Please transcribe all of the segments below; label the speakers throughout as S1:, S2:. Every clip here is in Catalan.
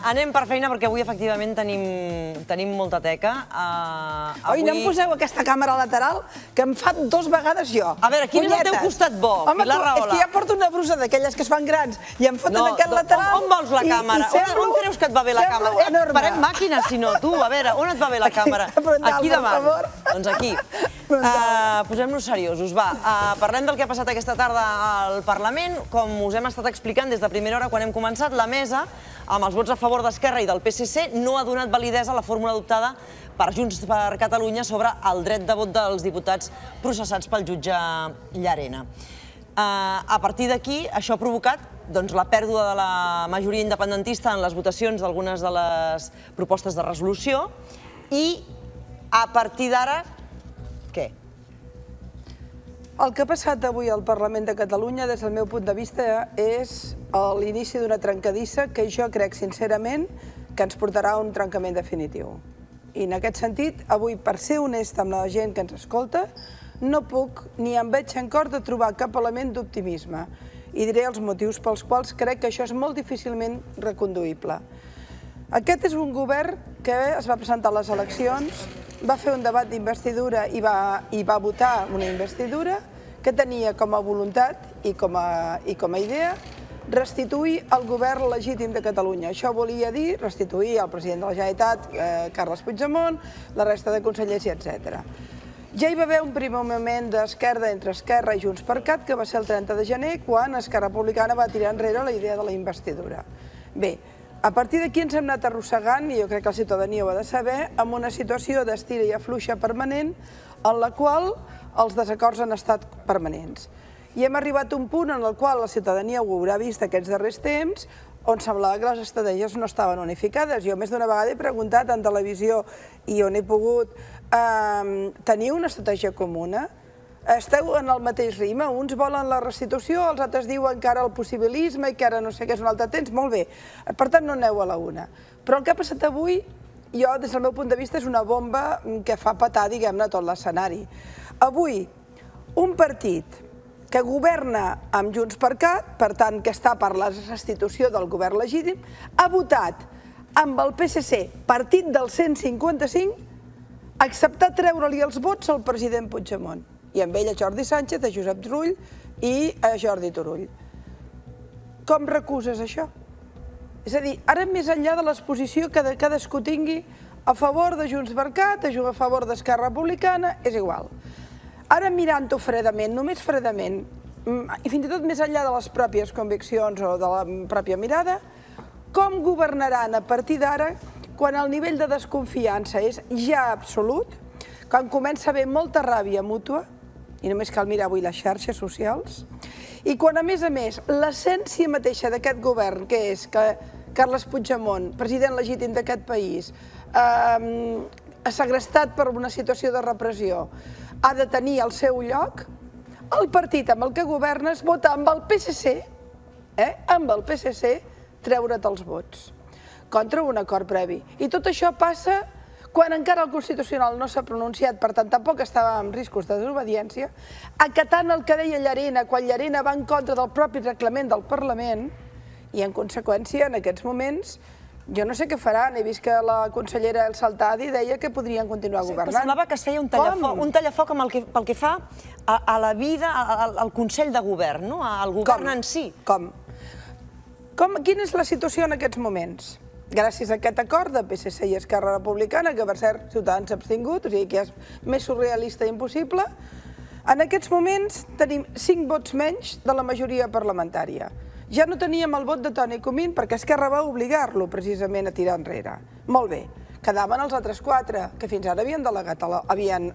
S1: Anem per feina perquè avui efectivament tenim molta teca.
S2: Oi, no em poseu aquesta càmera lateral, que em fa 2 vegades jo.
S1: A veure, quin és el teu costat bo, Pilar Rahola?
S2: És que ja porto una brusa d'aquelles que es fan grans i em foten aquest lateral.
S1: On vols la càmera? On creus que et va bé la càmera? Farem màquina, si no, tu. A veure, on et va bé la càmera? Aquí davant. Doncs aquí. Posem-nos seriosos, va. Parlem del que ha passat aquesta tarda al Parlament. Com us hem estat explicant des de primera hora quan hem començat, la mesa, amb els vots a favor d'Esquerra i del PSC, no ha donat validesa a la fórmula adoptada per Junts per Catalunya sobre el dret de vot dels diputats processats pel jutge Llarena. A partir d'aquí, això ha provocat la pèrdua de la majoria independentista en les votacions d'algunes de les propostes de resolució i, a partir d'ara, què?
S2: El que ha passat avui al Parlament de Catalunya, des del meu punt de vista, és l'inici d'una trencadissa que jo crec, sincerament, que ens portarà a un trencament definitiu. I en aquest sentit, avui, per ser honesta amb la gent que ens escolta, no puc ni em veig en cor de trobar cap element d'optimisme. I diré els motius pels quals crec que això és molt difícilment reconduïble. Aquest és un govern que es va presentar a les eleccions, va fer un debat d'investidura i va votar una investidura que tenia com a voluntat i com a idea restituir el govern legítim de Catalunya. Això volia dir restituir el president de la Generalitat, Carles Puigdemont, la resta de consellers, etc. Ja hi va haver un primer moment d'esquerda entre Esquerra i Junts per Cat, que va ser el 30 de gener, quan Esquerra Republicana va tirar enrere la idea de la investidura. Bé, a partir d'aquí ens hem anat arrossegant, i jo crec que la ciutadania ho ha de saber, amb una situació d'estira i afluixa permanent, en la qual els desacords han estat permanents. I hem arribat a un punt en el qual la ciutadania ho haurà vist aquests darrers temps, on semblava que les estratègies no estaven unificades. Jo més d'una vegada he preguntat en televisió i on he pogut tenir una estratègia comuna. Esteu en el mateix ritme, uns volen la restitució, els altres diuen que ara el possibilisme i que ara no sé què és un altre temps, molt bé, per tant no aneu a la una. Però el que ha passat avui, jo des del meu punt de vista, és una bomba que fa petar, diguem-ne, tot l'escenari. Avui, un partit que governa amb Junts per Cat, per tant que està per la restitució del govern legítim, ha votat amb el PSC, partit del 155, acceptar treure-li els vots al president Puigdemont. I amb ell a Jordi Sánchez, a Josep Rull i a Jordi Turull. Com recuses això? És a dir, ara més enllà de l'exposició que cadascú tingui a favor de Junts per Cat, a favor d'Esquerra Republicana, és igual. Ara mirant-ho fredament, només fredament, i fins i tot més enllà de les pròpies conviccions o de la pròpia mirada, com governaran a partir d'ara quan el nivell de desconfiança és ja absolut, quan comença a haver molta ràbia mútua, i només cal mirar avui les xarxes socials, i quan, a més, l'essència mateixa d'aquest govern, que és que Carles Puigdemont, president legítim d'aquest país, segrestat per una situació de repressió, ha de tenir el seu lloc, el partit amb el que governes vota amb el PSC, amb el PSC, treure't els vots, contra un acord previ. I tot això passa quan encara el Constitucional no s'ha pronunciat, per tant tampoc estava en riscos de desobediència, acatant el que deia Llarena, quan Llarena va en contra del propi reglament del Parlament, i en conseqüència, en aquests moments, jo no sé què faran, he vist que la consellera El Saltadi deia que podrien continuar governant.
S1: Però semblava que es feia un tallafoc pel que fa a la vida, al Consell de Govern, al govern en si.
S2: Com? Quina és la situació en aquests moments? Gràcies a aquest acord de PSC i Esquerra Republicana, que per cert Ciutadans s'ha abstingut, o sigui que és més surrealista i impossible, en aquests moments tenim 5 vots menys de la majoria parlamentària. Ja no teníem el vot de Toni Comín perquè Esquerra va obligar-lo precisament a tirar enrere. Molt bé, quedaven els altres 4, que fins ara havien delegat, havien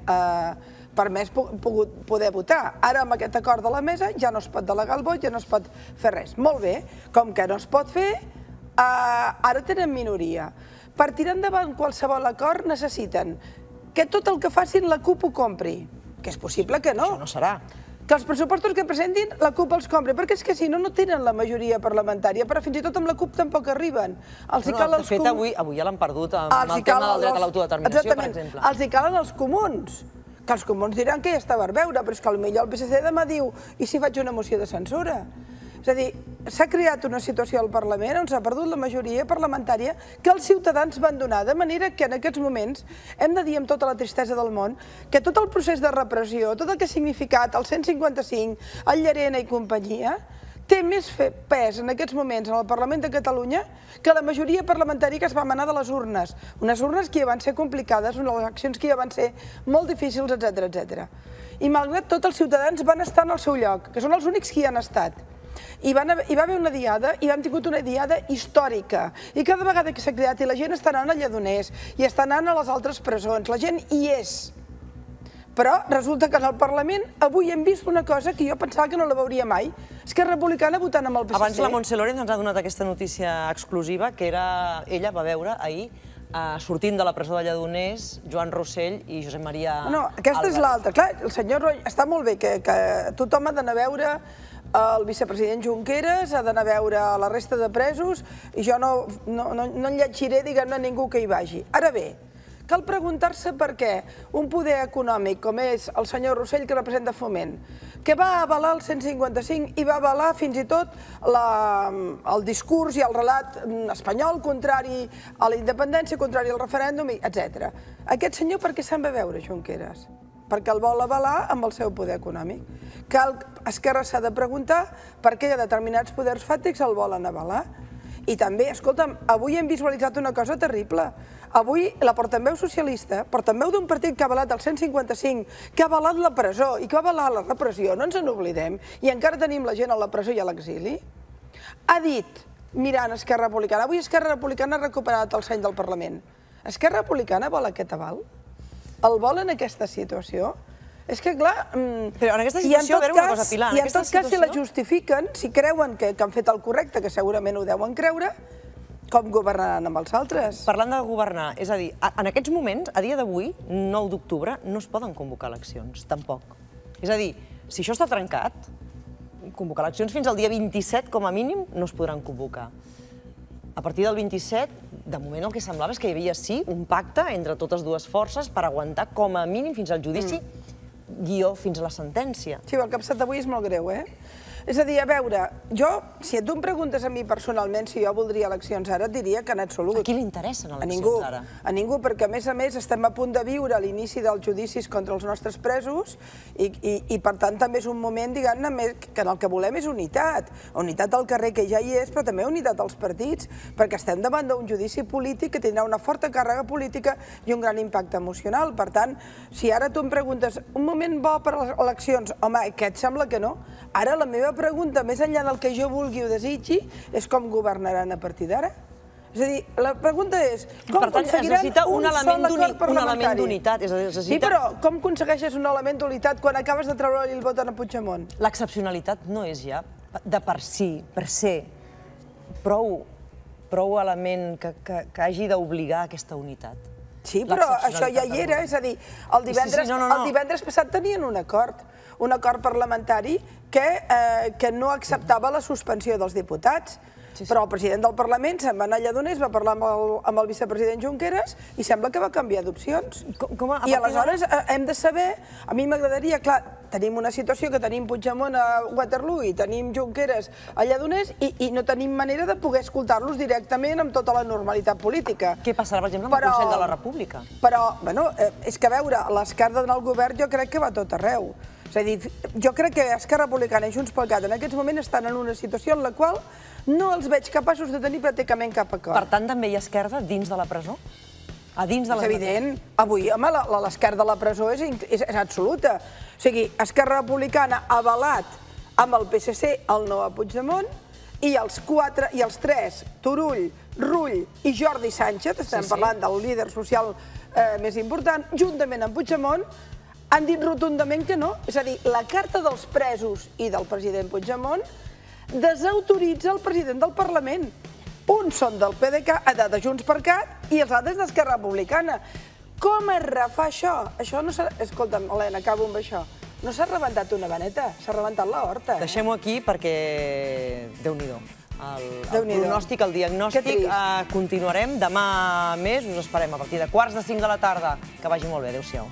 S2: permès poder votar. Ara, amb aquest acord de la mesa, ja no es pot delegar el vot, ja no es pot fer res. Molt bé, com que no es pot fer, ara tenen minoria. Per tirar endavant qualsevol acord necessiten que tot el que facin la CUP ho compri, que és possible que no.
S1: Això no serà.
S2: Que els pressupostos que presentin la CUP els compri, perquè és que si no, no tenen la majoria parlamentària, però fins i tot amb la CUP tampoc arriben.
S1: De fet, avui ja l'han perdut amb el tema del dret a l'autodeterminació, per exemple.
S2: Els hi calen els comuns, que els comuns diran que ja està per veure, però és que potser el PSC demà diu, i si faig una moció de censura? És a dir, s'ha creat una situació al Parlament on s'ha perdut la majoria parlamentària que els ciutadans van donar, de manera que en aquests moments hem de dir amb tota la tristesa del món que tot el procés de repressió, tot el que ha significat el 155, el Llarena i companyia, té més pes en aquests moments en el Parlament de Catalunya que la majoria parlamentària que es va manar de les urnes. Unes urnes que ja van ser complicades, unes eleccions que ja van ser molt difícils, etc. I malgrat tot els ciutadans van estar en el seu lloc, que són els únics que hi han estat. Hi va haver una diada i hem tingut una diada històrica i cada vegada que s'ha creat i la gent està anant a Lledoners i està anant a les altres presons, la gent hi és. Però resulta que en el Parlament avui hem vist una cosa que jo pensava que no la veuria mai. Esquerra Republicana votant amb el PSC.
S1: Abans la Montse Lorenz ens ha donat aquesta notícia exclusiva que ella va veure ahir sortint de la presó de Lledoners Joan Rossell i Josep Maria Álvarez.
S2: No, aquesta és l'altra. Clar, el senyor Roy, està molt bé que tothom ha d'anar a veure el vicepresident Junqueras, ha d'anar a veure la resta de presos i jo no llegiré, diguem-ne, ningú que hi vagi. Ara bé, cal preguntar-se per què un poder econòmic com és el senyor Rossell, que representa Foment, que va avalar el 155 i va avalar fins i tot el discurs i el relat espanyol contrari a la independència, contrari al referèndum, etc. Aquest senyor per què se'n va veure, Junqueras? Perquè el vol avalar amb el seu poder econòmic. Esquerra s'ha de preguntar per què determinats poders fàctics el volen avalar. I també, escolta'm, avui hem visualitzat una cosa terrible. Avui la portaveu socialista, portaveu d'un partit que ha avalat el 155, que ha avalat la presó i que ha avalat la repressió, no ens n'oblidem, i encara tenim la gent a la presó i a l'exili, ha dit, mirant Esquerra Republicana, avui Esquerra Republicana ha recuperat el seny del Parlament. Esquerra Republicana vol aquest aval? El vol en aquesta situació? És que, clar...
S1: Però en aquesta situació, a veure una cosa, Pilar...
S2: I en tot cas, si la justifiquen, si creuen que han fet el correcte, que segurament ho deuen creure, com governaran amb els altres?
S1: Parlant de governar, és a dir, en aquests moments, a dia d'avui, 9 d'octubre, no es poden convocar eleccions, tampoc. És a dir, si això està trencat, convocar eleccions fins al dia 27, com a mínim, no es podran convocar. A partir del 27, de moment el que semblava és que hi havia, sí, un pacte entre totes dues forces per aguantar com a mínim fins al judici, guió fins a la sentència.
S2: Sí, el que ha passat avui és molt greu, eh? És a dir, a veure, jo, si tu em preguntes a mi personalment si jo voldria eleccions ara, et diria que en absolut.
S1: A qui li interessen eleccions ara?
S2: A ningú, perquè a més estem a punt de viure l'inici dels judicis contra els nostres presos i per tant també és un moment, diguem-ne, que el que volem és unitat. Unitat al carrer, que ja hi és, però també unitat als partits, perquè estem davant d'un judici polític que tindrà una forta càrrega política i un gran impacte emocional. Per tant, si ara tu em preguntes un moment bo per a les eleccions, home, que et sembla que no? Ara la meva pregunta, més enllà del que jo vulgui o desitgi, és com governaran a partir d'ara. És a dir, la pregunta és com aconseguiran un sol acord parlamentari.
S1: Un element d'unitat.
S2: Sí, però com aconsegueixes un element d'unitat quan acabes de treure-li el vot a Puigdemont?
S1: L'excepcionalitat no és ja, de per si, per ser, prou element que hagi d'obligar aquesta unitat.
S2: Sí, però això ja hi era, és a dir, el divendres passat tenien un acord parlamentari que no acceptava la suspensió dels diputats. Però el president del Parlament se'n va anar a Lledoners, va parlar amb el vicepresident Junqueras i sembla que va canviar d'opcions. I aleshores hem de saber, a mi m'agradaria, clar, tenim una situació que tenim Puigdemont a Waterloo i tenim Junqueras a Lledoners i no tenim manera de poder escoltar-los directament amb tota la normalitat política.
S1: Què passarà, per exemple, amb el Consell de la República?
S2: Però, bueno, és que a veure, l'esquerda en el govern jo crec que va tot arreu. És a dir, jo crec que Esquerra Republicana i Junts pel Cat en aquests moments estan en una situació en la qual no els veig capaços de tenir pràcticament cap acord.
S1: Per tant, també hi ha esquerda dins de la presó?
S2: És evident. Avui, home, l'esquerda de la presó és absoluta. O sigui, Esquerra Republicana ha avalat amb el PSC el no a Puigdemont i els tres, Turull, Rull i Jordi Sánchez, estem parlant del líder social més important, juntament amb Puigdemont, han dit rotundament que no. És a dir, la carta dels presos i del president Puigdemont desautoritza el president del Parlament. Uns són del PDeCAT, de Junts per Cat, i els altres d'Esquerra Republicana. Com es refà això? Això no s'ha... Escolta'm, Helena, acabo amb això. No s'ha rebentat una vaneta, s'ha rebentat la horta.
S1: Deixem-ho aquí perquè... Déu-n'hi-do. El pronòstic, el diagnòstic, continuarem. Demà més us esperem a partir de 4:45 de la tarda. Que vagi molt bé. Adéu-siau.